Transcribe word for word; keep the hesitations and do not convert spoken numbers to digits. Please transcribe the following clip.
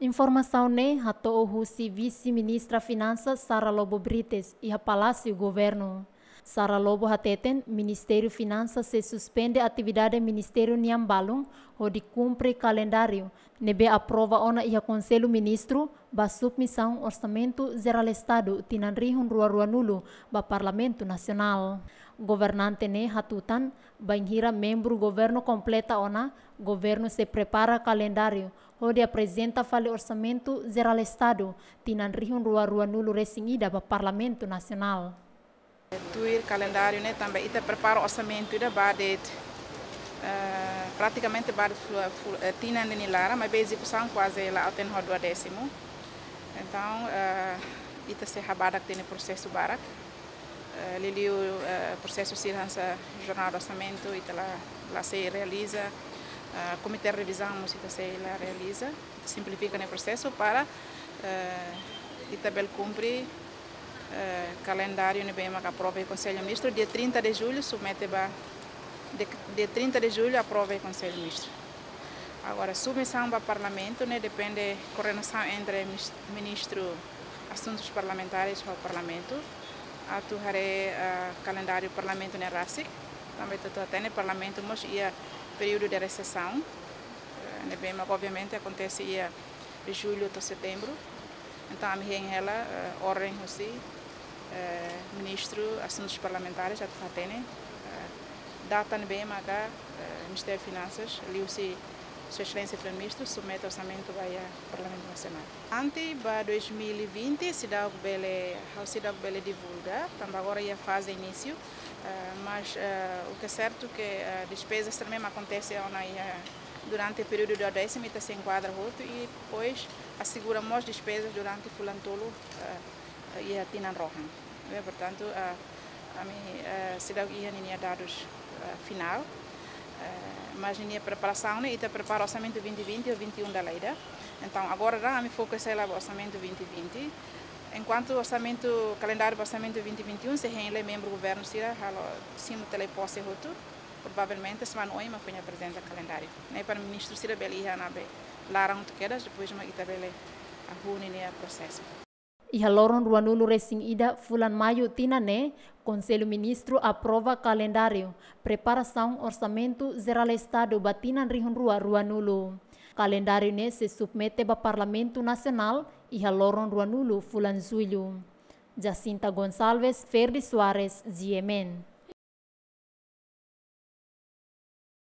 Informasaun ne'e hato'o husi Vise-Ministra Finansas Sara Lobo Brites iha Palásiu Governu. Sara Lobo hateten Ministériu Finansas sei suspende atividade ministériu nian balun hodi kumpre kalendáriu ne'ebé aprova ona iha Konsellu Ministru ba submisaun Orsamentu Jerál Estadu tinan rihun rua ruanulu ba Parlamentu Nasionál. Governante ne'e hatutan, bainhira membru governu kompleta ona, governu sei prepara kalendáriu hodi aprezenta fali Orsamentu Jerál Estadu tinan rihun rua ruanulu resin ida ba Parlamentu Nasionál. Tuir kalendáriu ne'e tanba ita prepara orsamentu ida ba de'it, eh, pratikamente ba de'it flu-, flu-, eh, tinan ida nia laran, maibé ezekusaun kuaze la'o tiha ho duadésimu. Entaun, eh, ita sei habadak tiha ona prosesu barak. Eh, liuliu, eh, prosesu sira hanesan jornada orsamentu, ita la, la sei realiza, eh, komité revizaun mós ita sei la realiza, ita simplifika nia prosesu para, eh, ita bele kumpre, eh, kalendáriu ne'ebé mak aprova iha Konsellu Ministru, dia trinta de julho, submete ba, de, dia trinta de julho, aprova iha Konsellu Ministru. Agora, submisaun ba Parlamentu ne'e depende koordenasaun entre mis-, Ministru Asuntus Parlamentares ho Parlamentu. Atu haree, ah, kalendáriu Parlamentu ne'e rasik. Tanba ita hatene Parlamentu mós iha períodu de resesaun. Eh, ne'ebé mak obviamente akontese iha jullu to'o setembru. Entaun, ami hein hela, eh, orden husi, eh, Ministru Asuntus Parlamentares atu hatene, eh, data ne'ebé maka, eh, Ministériu Finansas, liuhusi Sua Exelénsia Primeiru-Ministru, submete orsamentu ba iha Parlamentu Nasionál. Ante ba dois mil e vinte, seidauk bele, ha'u seidauk bele divulga, tanba agora iha faze inísiu, eh, mas, eh, o que é certo que, eh, despezas também akontese ona iha durante períodu duadésimu ita sei enkuadra hotu i depois asegura mós despezas durante fulan tolu, eh, iha tinan rohan. Eh, portantu, eh, ami, eh, seidauk iha ninia dadus, eh, finál. Eh, mas ninia preparasaun ne'e, ita prepara orsamentu vinte vinte ho vinte e um dala ida. Entaun, agora daudaun ami foka hela ba orsamentu vinte vinte. Enkuantu orsamentu, kalendáriu ba orsamentu vinte vinte e um sei hein lai membru governu sira halo simu tele pose hotu. Provavelmente semana oin mak foin aprezenta kalendáriu ne'e para ministru sira bele iha ona ba laran hotu kedas, depois mak ita bele hahú ninia prosesu. Iha loron ruanulu resin ida fulan Maiu tinan ne'e, Konsellu Ministru aprova kalendáriu preparasaun Orsamentu Jerál Estadu ba tinan rihun rua ruanulu. Kalendáriu ne'e sei submete ba Parlamentu Nasionál iha loron ruanulu fulan Jullu. Jacinta Gonçalves, Ferdi Soares, G M N.